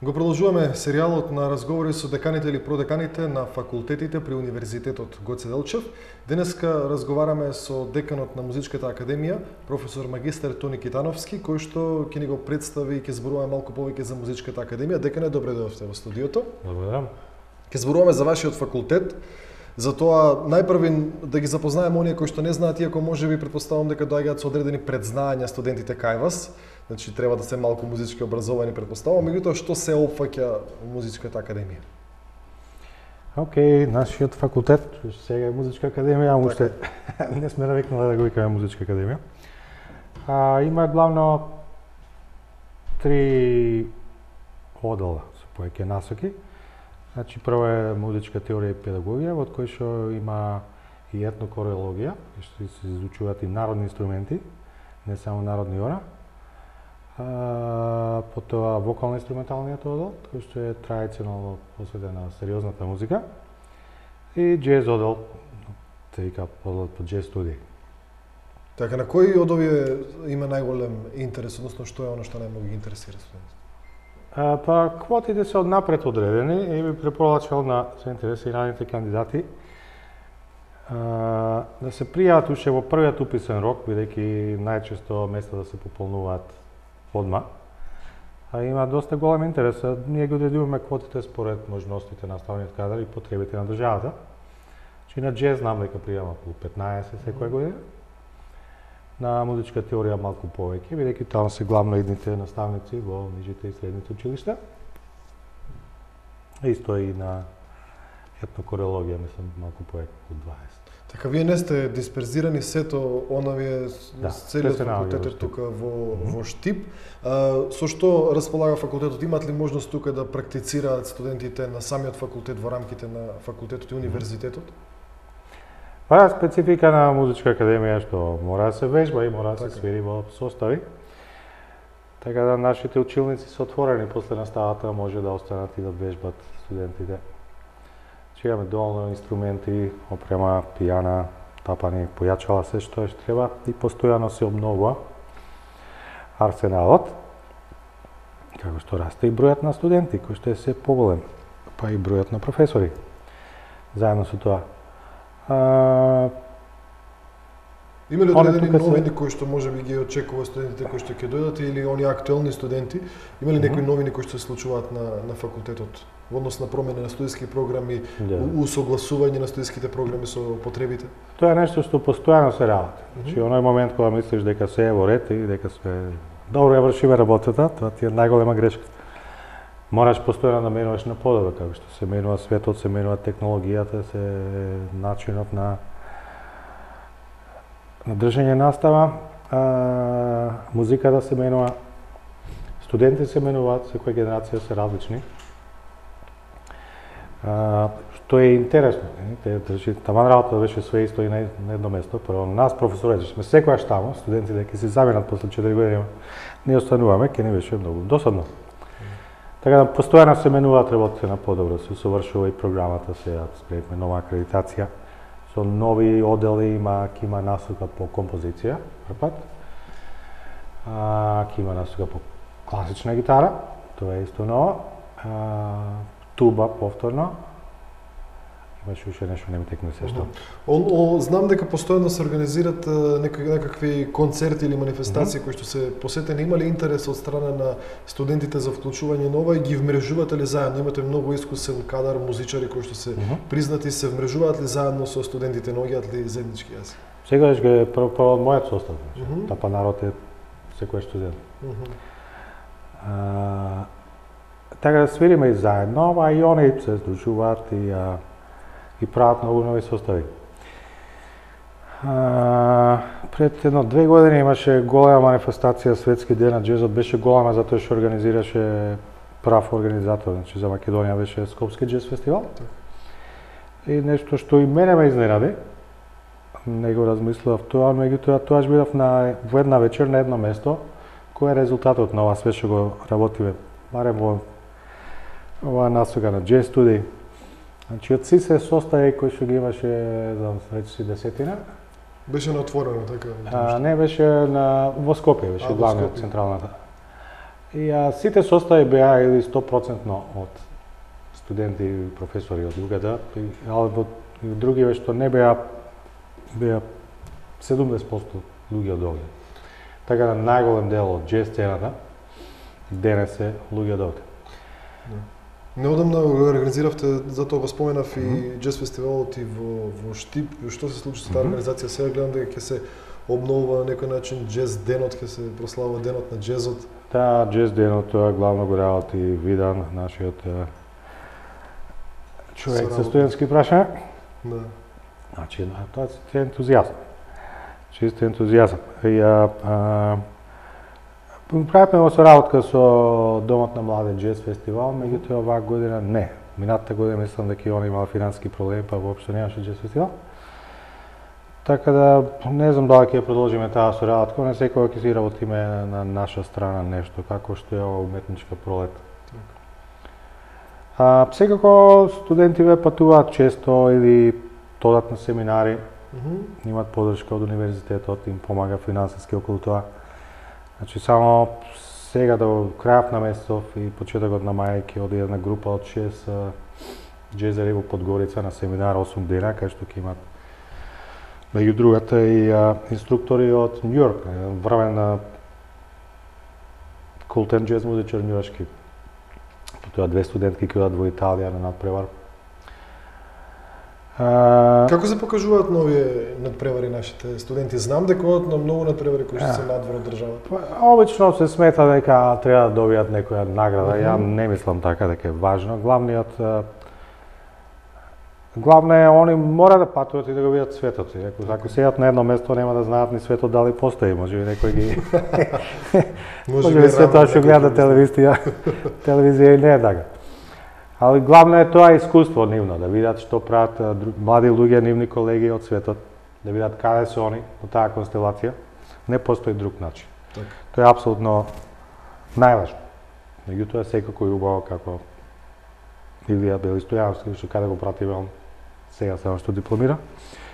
Го продолжуваме серијалот на разговори со деканите или продеканите на факултетите при Универзитетот Гоце Делчев. Денеска разговараме со деканот на Музичката академија, професор магистар Тони Китановски, кој што ќе ни го представи и ќе зборуваме малку повеќе за Музичката академија. Декане, добре дојдовте во студиото. Благодарам. Ќе зборуваме за вашиот факултет. Затоа најпрви да ги запознаеме оние кои што не знаат, иако можеби претпоставувам дека доаѓаат со одредени предзнаења студентите кај вас. Значи треба да се малку музички образовани претпоставувам, меѓутоа што се опфаќа Музичката академија? Океј, нашиот факултет сега е Музичка академија, уште не сме навикнали да го викаме Музичка академија. Има главно 3 одела со повеќе насоки. Значи, прво е музичка теорија и педагогија, во кој што има и етнокорелогија, што се изучуваат и народни инструменти, не само народни ора. Потоа вокално-инструменталниот одел, кој што е традиционално посветен на сериозната музика, и џез одел, се вика одел по џез студии. Така, на кој од овие има најголем интерес, односно што е оно што најмногу ги интересира студентите? Па, квотите се однапред одредени и би препорачал на заинтересираните кандидати да се пријават уште во првиот уписен рок, бидејќи најчесто места да се пополнуваат одма. Има доста голем интерес. Ние ги одредуваме квотите според можностите на наставниот кадар и потребите на државата. Значи на џез знам дека пријама околу 15 секоја година. На музичка теорија малку повеќе, бидејќи таму се главно идните наставници во нижите и средните училишта. Исто и на етнокорелогија, мислам, малку повеќе од 20. Така, вие не сте дисперзирани сето онавие целиот факултет е тука во Штип. Со што располага факултетот? Имат ли можност тука да практицираат студентите на самиот факултет во рамките на факултетот и универзитетот? Па специфика на Музичка академија што мора да се вежба и мора да се свири во состави. Така да нашите училници се отворени после наставата, може да останат и да вежбат студентите. Имаме доволно инструменти, опрема, пијана, тапани, појачала, се што треба и постојано се обновува арсеналот. Како што расте и бројот на студенти, кој што е се поголем, па и бројот на професори. Заедно со тоа. Има ли одредени новини кои што можеби ги очекува студентите кои што ќе дојдат или оние актуелни студенти? Има ли некои новини кои што се случуваат на факултетот во однос на промена на студиски програми, усогласување на студиските програми со потребите? Тоа е нешто што постојано се работи. Значи, оној момент кога мислиш дека се е во ред и дека сме добро ја вршиме работата, тоа ти е најголема грешка. Мораш постојано да менуваш на подобро, како што се менува светот, се менува технологијата, се начинот на држање настава, музиката се менува, студенти се менуваат, секоја генерација се различни. Што е интересно, таман работата беше све исто и на едно место. Прво, нас професорите сме секојаш таму, студенти дека се заменат после 4 години, не остануваме, ке не беше многу досадно. Така да постојано се менуваат работите на подобро, се усовршува и програмата, се спремаме нова акредитација. Со нови одели ќе има насока по композиција, првпат. Ќе има насока по класична гитара, тоа е исто ново. Туба повторно. Имаше уште нешто, не ми текне се што. Знам дека постојано се организират некакви концерти или манифестации кои што се посетени. Има ли интерес од страна на студентите за вклучување на ова и ги вмрежувате ли заедно? Имате многу искусен кадар музичари кои што се признати, се вмрежуваат ли заедно со студентите, наоѓаат ли заеднички јазик? Сегаш ге прво мојот состав. Тапа народ е секој студент. Така да свириме и заедно, а и они се сдружуваат и прават многу нови состави. Пред 1-2 години имаше голема манифестација, Светски ден на џезот, беше голема затоа што организираше прав организатор, значи за Македонија беше Скопски џез фестивал. И нешто што и мене ме изненади, не го размислував тоа, меѓутоа тоа бидов во една вечер на едно место, кој е резултатот на ова све што го работиме, барем во ова насока на џез студии. Значи, од се состави кои што ги имаше, знам, речиси 10-тина. Беше на отворено, така? Не, беше во Скопје, беше главниот, централната. И сите состави беа или 100% од студенти и професори од УГД, алbo и други што не беа 70% луѓе од овде. Така да најголем дел од джез сцената денес е луѓе од овде. Неодамна организиравте, затоа го споменав и джез фестивалот и во Штип. Што се случи со таа организација? Сега гледам дека ќе се обновува на некој начин джез денот, ќе се прославува денот на джезот. Да, джез денот тоа главно го работи Видан, нашиот човек со студентски прашања. Да. Значи, тоа е ентузијазам. Чист ентузијазам. Правиме во соработка со Домот на млади джез фестивал, меѓутоа оваа година не. Минатата година мислам дека и он имал финански проблеми, па воопшто немаше джез фестивал. Така да не знам дали ќе продолжиме таа соработка, не секогаш ќе си работиме на наша страна нешто, како што е ова уметничка пролет. Секако студентиве патуваат често или одат на семинари, имаат подршка од универзитетот, им помага финансиски околу тоа. Значи само сега до крајот на месецов и почетокот на мај ќе оди една група од 6 джезери во Подгорица на семинар 8 дена, кај што ќе имаат меѓу другата и инструктори од Њујорк, врвен култен джез музичар њујоршки. Потоа 2 студентки ќе одат во Италија на надпревар. Како се покажуваат нови надпревари нашите студенти? Знам дека одат на многу надпревари кои што се надвор од државата. Обично се смета дека треба да добијат некоја награда. Ја не мислам така дека е важно. Главно е они мора да патуваат и да го видат светот. Ако седат на едно место нема да знаат ни светот дали постои, можеби некој ги можеби светот што гледа телевизија и не е така. Али главно е тоа искуство нивно, да видат што прават млади луѓе, нивни колеги од светот, да видат каде се они во таа констелација. Не постои друг начин. Так. Тоа е апсолутно најважно. Меѓутоа секако е убаво како Илија Белистојановски, што каде го пративе он сега само што дипломира,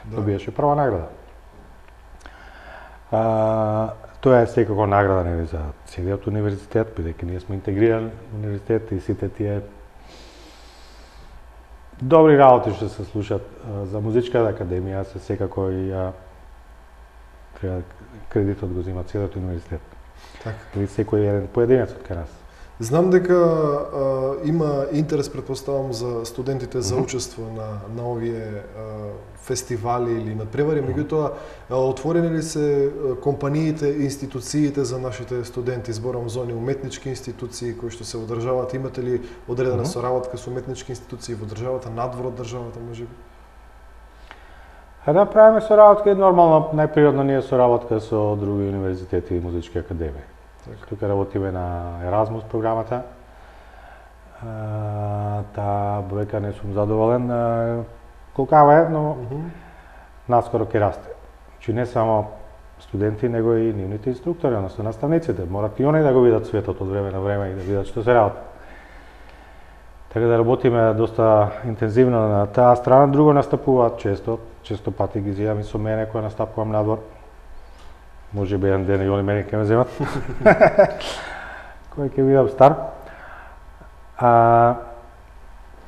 добиеше прва награда. Тоа е секако награда нели за целиот универзитет, бидејќи ние сме интегриран универзитет и сите тие добри работи што се слушат за музичката академија се секако и треба кредитот го зема целиот универзитет. Така. Или секој еден поединец од кај нас. Знам дека има интерес, предпоставам, за студентите за учество на овие фестивали или надпревари, меѓутоа отворени ли се компаниите, институциите за нашите студенти? Зборам за оние уметнички институции кои што се во државата, имате ли одредена соработка со уметнички институции во државата, надвор од државата, можеби? Да, правиме соработка и нормално, најприродно ние соработка со други универзитети и музички академии. Тука работиме на Еразмус програмата. Таа бројка не сум задоволен. Колкава е, но наскоро ќе расте. Значи не само студенти, него и нивните инструктори, односно наставниците. Морат и они да го видат светот од време на време и да видат што се работи. Така да работиме доста интензивно на таа страна. Друго настапуваат често пати ги зијам и со мене која настапувам надвор. Може би еден ден и они мене ќе ме земат. Кој ќе видам стар.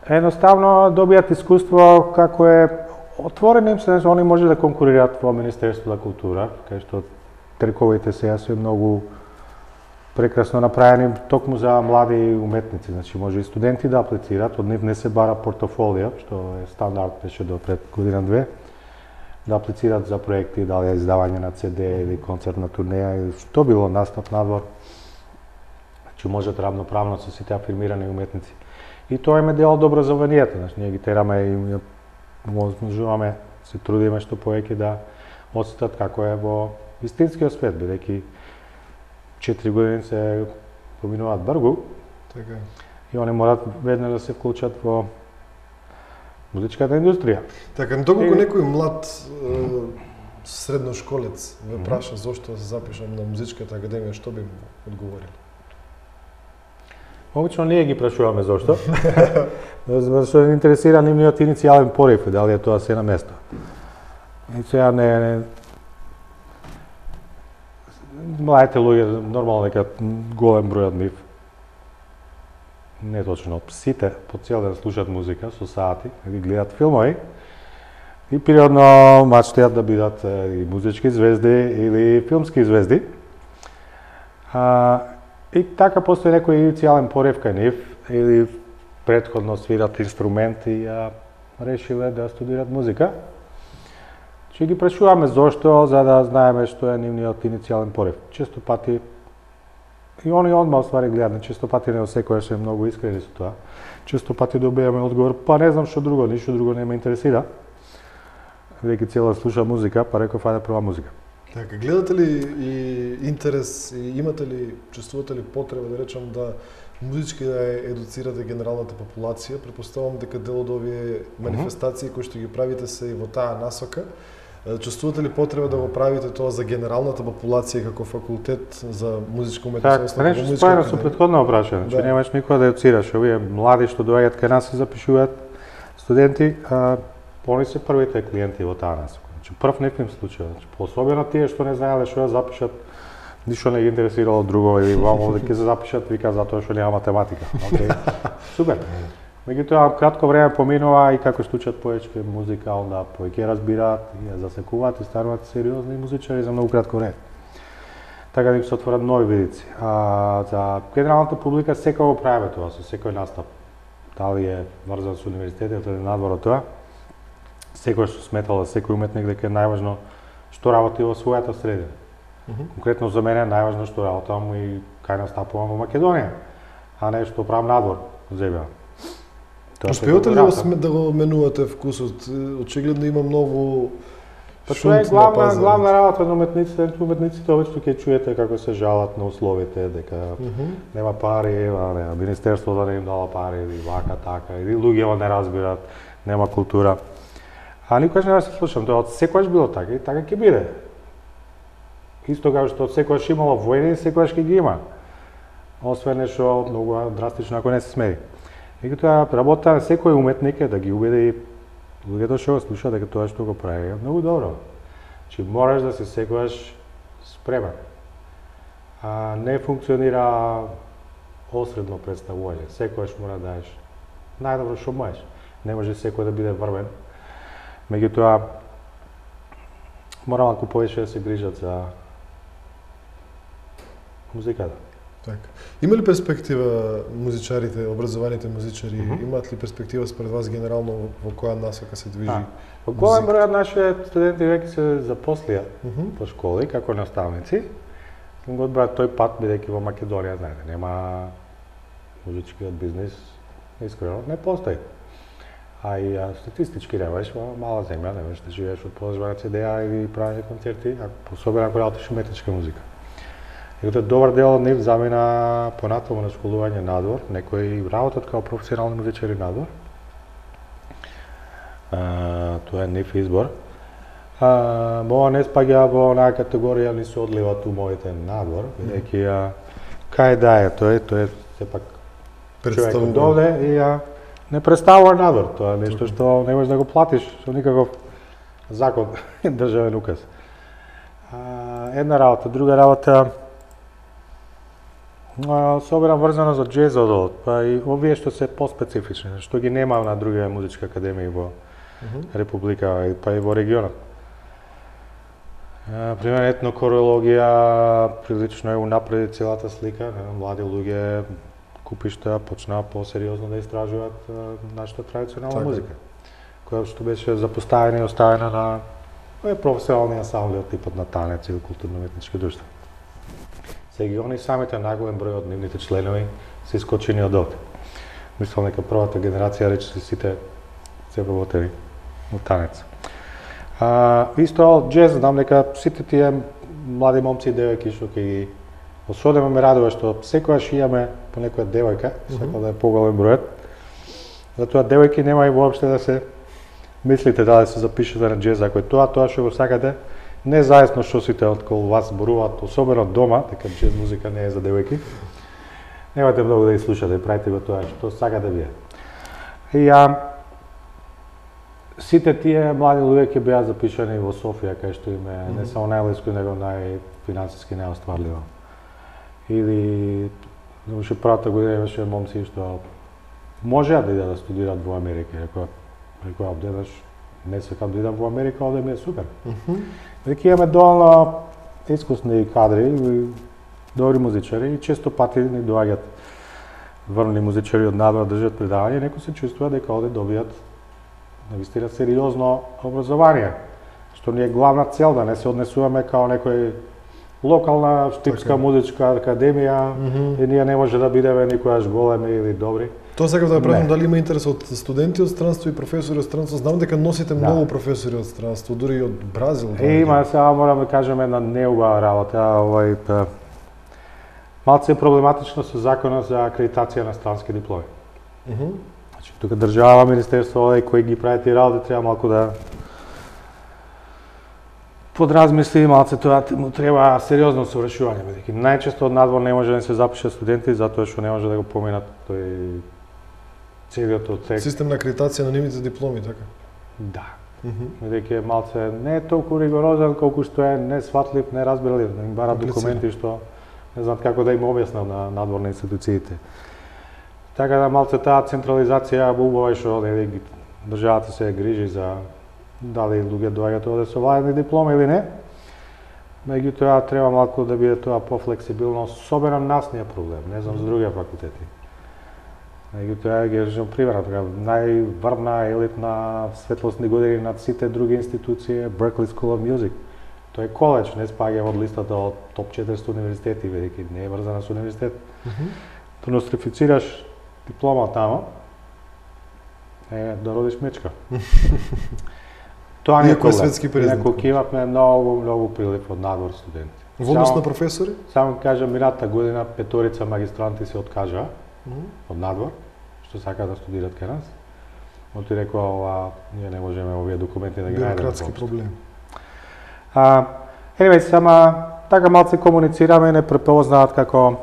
Едноставно добијат искуство како е отворено им се, они може да конкурираат во Министерството на култура, кај што трековите сега се многу прекрасно направени токму за млади уметници, значи може и студенти да аплицираат, од нив не се бара портофолио, што е стандард беше до пред година-две, да аплицираат за проекти, дали издавање на CD или концертна турнеја или што било настап надвор. Значи можат равноправно со сите афирмирани уметници. И тоа им е дел добро за ванијата, значи ние ги тераме и можуваме, се трудиме што повеќе да осетат како е во вистинскиот свет, бидејќи 4 години се поминуваат брзо. Така. И они морат веднаш да се вклучат во музичката индустрија. Така, доколку некој млад средношколец ве праша зошто се запишам на музичката академија, што би му одговорили? Обично ние ги прашуваме зошто. Зашто не интересира нивниот иницијален порив, дали е тоа се на место. И сега не младите луѓе нормално дека голем број од нив не точно, сите по цел ден слушаат музика со сати или гледаат филмови и периодно мечтаат да бидат и музички звезди или филмски звезди. И така постои некој иницијален порив кај нив или претходно свират инструменти и решиле да студират музика. Че ги прашуваме зошто, за да знаеме што е нивниот иницијален порив. Често пати и они одма оствари гледаат, често пати не секојаш е многу искрени со тоа. Често пати добиваме одговор, па не знам што друго, ништо друго не ме интересира. Веќе цела слуша музика, па реков ајде прва музика. Така, гледате ли и интерес, и имате ли, чувствувате ли потреба, да речам, да музички да едуцирате генералната популација? Претпоставувам дека дел од овие манифестации кои што ги правите се и во таа насока. Чувствувате ли потреба да го правите тоа за генералната популација како факултет за музичка уметност? Така, нешто споено со претходно прашање, че немаш никога да едуцираш. Овие млади што доаѓаат кај нас се запишуваат студенти, они се првите клиенти во таа насока. Прв не им случај, особено тие што не знаеле што да запишат, ништо не ги интересирало друго или овде ќе се запишат, вика затоа што нема математика. Океј. Супер. Меѓутоа кратко време поминува и како стучат повеќе музика, онда повеќе разбираат и ја засекуваат и стануваат сериозни музичари за многу кратко време. Така да им се отворат нови видици. За генералната публика секој го правиме тоа со секој настап. Дали е врзан со универзитетот или надвор од тоа. Секој што сметал секој уметник дека е најважно што работи во својата средина. Конкретно за мене е најважно што работам и кај настапувам во Македонија, а не што правам надвор во земја. Успеувате ли да го менувате вкусот? Очигледно има многу тоа е главна работа на уметниците. Уметниците обично ќе чуете како се жалат на условите, дека нема пари, Министерството да не им дала пари, или вака, така, или луѓето не разбират, нема култура. А никогаш не се слушам, тоа од секогаш било така и така ќе биде. Исто како што од секогаш имало војни, секогаш ќе ги има. Освен нешто многу драстично ако не се смери. Меѓутоа работата на секој уметник е да ги убеди луѓето што го слушаат дека тоа што го прави е многу добро. Че мораш да се секогаш спремен. Не функционира осредно представување. Секогаш мора да даеш најдобро што можеш. Не може секој да биде врвен. Меѓутоа, мора малку повеќе да се грижат за музиката. Така. Има ли перспектива музичарите, образованите музичари, имаат ли перспектива според вас генерално во која насока се движи? Во голем број од нашите студенти веќе се запослија по школи како наставници. Го одбраат тој пат, бидејќи во Македонија, знаете, нема музичкиот бизнис, искрено не постои. А и статистички немаш во мала земја, немаш да живееш од продажба на CD-а или правење концерти, особено ако работиш уметничка музика. И тоа добар дел од нив замина понатаму на школување надвор, некои работат како професионални музичари надвор. Тоа е нив избор. Ова не спаѓа во онаа категорија ни се одливат умовите надвор, бидејќи кај да е тој е сепак човек од овде и не представува надвор, тоа е нешто што не можеш да го платиш со никаков закон, државен указ. Една работа, друга работа, особено врзано за џезот, па и овие што се поспецифични, што ги нема на други музички академии во Република, па и во регионот. Пример, етнокорологија прилично е унапреди целата слика, млади луѓе купишта почнаа по-сериозно да истражуваат нашата традиционална музика, која што беше запоставена и оставена на професионални ансамбли од типот на танец или културно-уметнички друштва. Сега они самите најголем број од нивните членови се искочени од овде. Мислам дека првата генерација речиси сите се вработени во танец. Исто џез, знам дека сите тие млади момци и девојки што ќе ги особено ме радува што секогаш имаме по некоја девојка, сакам да е поголем бројот. Затоа девојки нема и воопште да се мислите да се запишете на џез, ако е тоа што го сакате, не заесно што сите околу вас зборуваат, особено дома, дека џез музика не е за девојки. Немате многу да ги слушате, правите го тоа што сакате вие. И сите тие млади луѓе ќе беа запишани во Софија, кај што им е не само најблиску, него најфинансиски најостварливо. Или Уште првата година имаше момци што можеа да идат да студираат во Америка. Рекоа, одеднаш не сакам да идам во Америка, овде ми е супер. Веќе имаме доволно искусни кадри, добри музичари и често пати ни доаѓаат врвни музичари од надвор држат предавања и некои се чувствува дека овде добијат навистина сериозно образование, што ни е главна цел, да не се однесуваме као некој локална штипска музичка академија и ние не може да бидеме никогаш големи или добри. Тоа сакав да прашам дали има интерес од студенти од странство и професори од странство. Знам дека носите многу професори од странство, дури и од Бразил. Има, сега морам да кажем една неубава работа, малце е проблематично со законот за акредитација на странски дипломи. Значи, тука држава, министерство, кои ги прави тие работи, треба малку да подразмисли, малце тоа му треба сериозно совршување, бидејќи најчесто од надвор не може да се запишат студенти затоа што не може да го поминат тој целиот отсек. Систем на акредитација на нивните дипломи, така? Да. Бидејќи малце не е толку ригорозен колку што е несватлив, неразбирлив, да им барат документи што не знам како да им објаснам на надворни институциите. Така да малце таа централизација убава што државата се грижи за дали луѓе доаѓаат овде со владени дипломи или не. Меѓутоа треба малку да биде тоа пофлексибилно, особено нас не е проблем, не знам за другите факултети. Меѓутоа ги речем пример, така најврвна елитна светлосни години над сите други институции е Berklee School of Music. Тој е коледж, не спаѓа од листата од топ 400 универзитети, бидејќи не е врзана со универзитет. Да нострифицираш диплома тамо, е да родиш мечка. Тоа не е проблем. Инаку имавме многу прилив од надвор студенти. Во однос на професори? Само кажам, минатата година петорица магистранти се откажаа од надвор, што сакаат да студираат кај нас. Оти рекоа, ние не можеме овие документи да ги најдеме. Бюрократски проблем. Anyway, сама така малце комуницираме и не препознаат како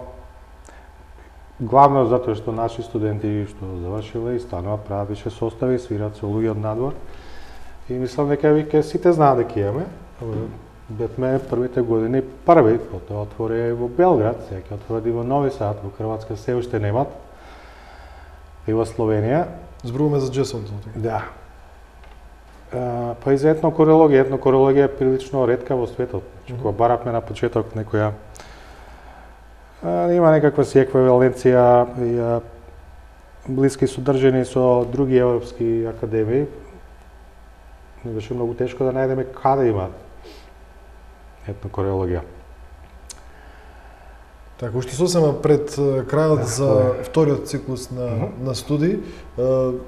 главно затоа што наши студенти што завршиле и стануваат, прават више состави, свират со луѓе од надвор. И мислам дека веќе сите знаат дека имаме. Бевме првите години први, потоа отвори во Белград, сега ќе отвори во Нови Сад, во Хрватска се уште немат. И во Словенија. Зборуваме за джесот. Да. Па и за етнокорологија. Етнокорологија е прилично ретка во светот. Кога баравме на почеток некоја има некаква си еквиваленција и блиски содржини со други европски академии. Не беше многу тешко да најдеме каде има етнокорологија. Така, уште сосема пред крајот за вториот циклус на студии,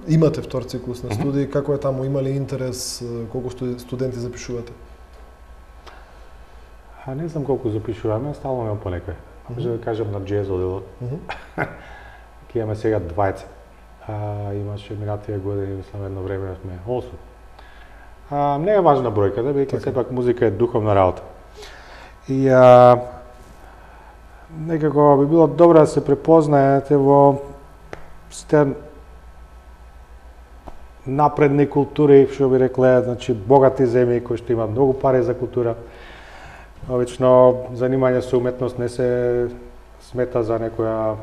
имате втор циклус на студии, како е таму, има ли интерес, колку студенти запишувате? Не знам колку запишуваме, стално имам по некој. Може да кажем на джез оделот. Ке имаме сега 20. Имаше минатија години, мислам едно време сме 8. Не е важна бројката, бидејќи сепак музика е духовна работа. И некако би било добро да се препознаете во сите напредни култури, што би рекле, значи богати земји кои што имаат многу пари за култура. Обично занимање со уметност не се смета за некоја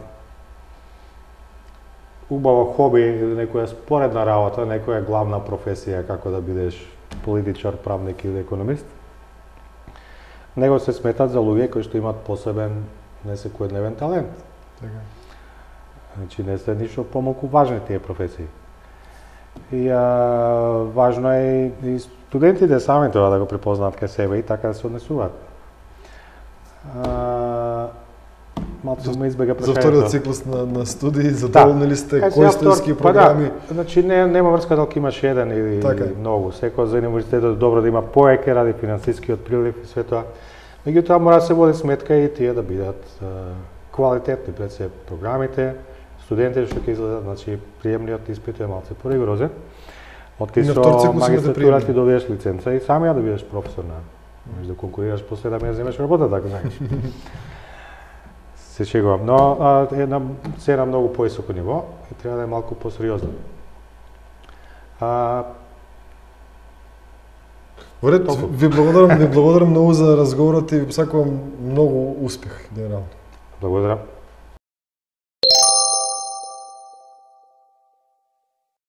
убаво хоби или некоја споредна работа, некоја главна професија како да бидеш политичар, правник или економист. Него се сметат за луѓе кои што имаат посебен несекојдневен талент. Така. Значи не се ништо помалку важни тие професии. И важно е и студентите сами тоа да го препознаат кај себе и така да се однесуваат. Малку ме избега прашањето. За вториот циклус на студии, задоволни ли сте, кои студентски програми? Значи нема врска дали имаш еден или многу. Секој за универзитетот добро да има повеќе ради финансискиот прилив и све тоа. Меѓутоа мора да се води сметка и тие да бидат квалитетни пред се програмите, студентите што ќе излезат, значи приемниот испит е малце поригорозен. Откај со магистратура ти добиеш лиценца и самија да бидеш професор на. Можеш да конкурираш после да ме земеш работа, така знаеш. Се шегувам, но се на многу повисоко ниво и треба да е малку посериозно. Вред, ви благодарам многу за разговорот и ви посакувам многу успех генерално. Благодарам.